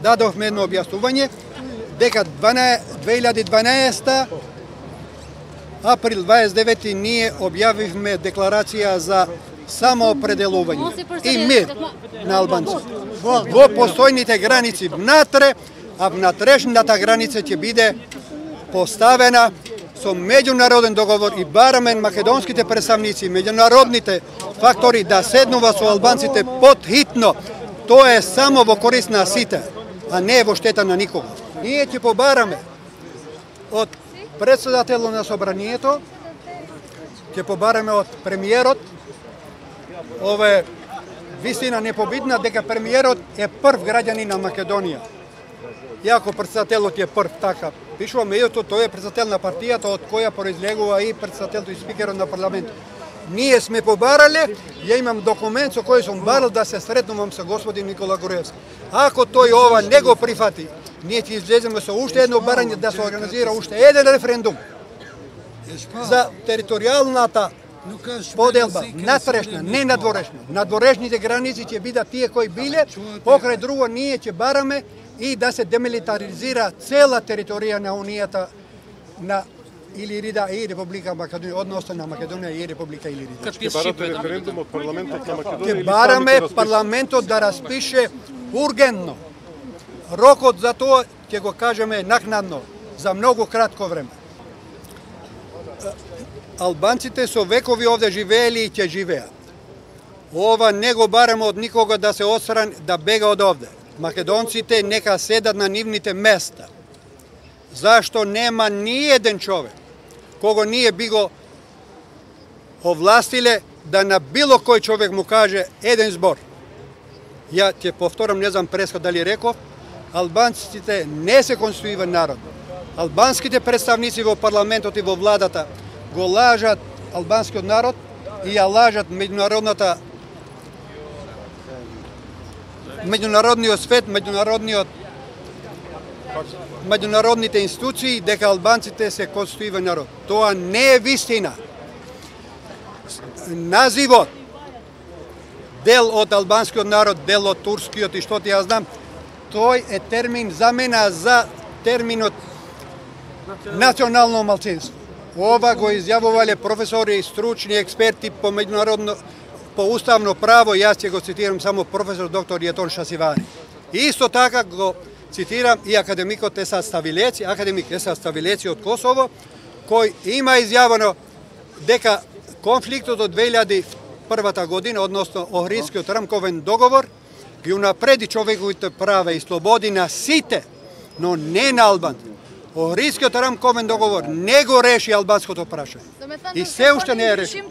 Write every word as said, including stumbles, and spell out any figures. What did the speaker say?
дадовме едно објаснување дека две илјади и дванаесета април дваесет и девети ние објавивме декларација за самоопределување и мир на албанците во постојните граници внатре, а внатрешната граница ќе биде поставена со меѓународен договор и бараме македонските представници, меѓународните фактори да седнува со албанците потхитно. Тоа е само во корист на сите, а не во штета на никого. Ние ќе побараме од председателот на собранието, ќе побараме од премиерот, ове вистина непобитна дека премиерот е прв граѓанин на Македонија. Иако председателот е прв, така пишува, меѓутоа тој е председател на партијата од која произлегува и председателот и спикерот на парламентот. Ние сме побарале, ја имам документ со кој сум барал да се сретнувам со господин Никола Груевски. Ако тој ова не го прифати, ние ќе излеземе со уште едно барање да се организира уште еден референдум за територијалната поделба, натрешна, не надворешна. Надворешните граници ќе бидат тие кои биле, покрај друго ние ќе бараме и да се демилитаризира цела територија на Унијата на Илирида и Република Македонија, односно на Македонија и Република Илирида. Ќе барате референдум од парламентот на Македонија? Ќе бараме парламентот да распише ургентно. Рокот за тоа ќе го кажеме накнадно, за многу кратко време. Албанците со векови овде живеели и ќе живеат. Ова не го бараме од никога да се отстрани, да бега од овде. Македонците нека седат на нивните места. Зашто нема ни еден човек кого ние би го овластиле да на било кој човек му каже еден збор. Ја ќе повторам, не знам преска дали реков, албанците не се конституиван народ. Албанските представници во парламентот и во владата го лажат албанскиот народ и ја лажат меѓународната меѓународниот свет, меѓународниот меѓународните институции дека албанците се конституиван народ. Тоа не е вистина. Називот дел од албанскиот народ, дел од турскиот и што ти ја знам, тој е термин замена за терминот национално малцинство. Ова го изјавувале професори и стручни експерти по меѓународно по уставно право, јас ќе го цитирам само професор доктор Јетон Шасивари. Исто така го цитирам и академикот Есад Ставилеци, академик Есад Ставилеци од Косово, кој има изјавено дека конфликтот од две илјади и прва година, односно Охридскиот рамковен договор, ги унапреди човековите права и слободи на сите, но не на албанците. Охридскиот рамковен договор не го реши албанското прашање. И се уште не е реши.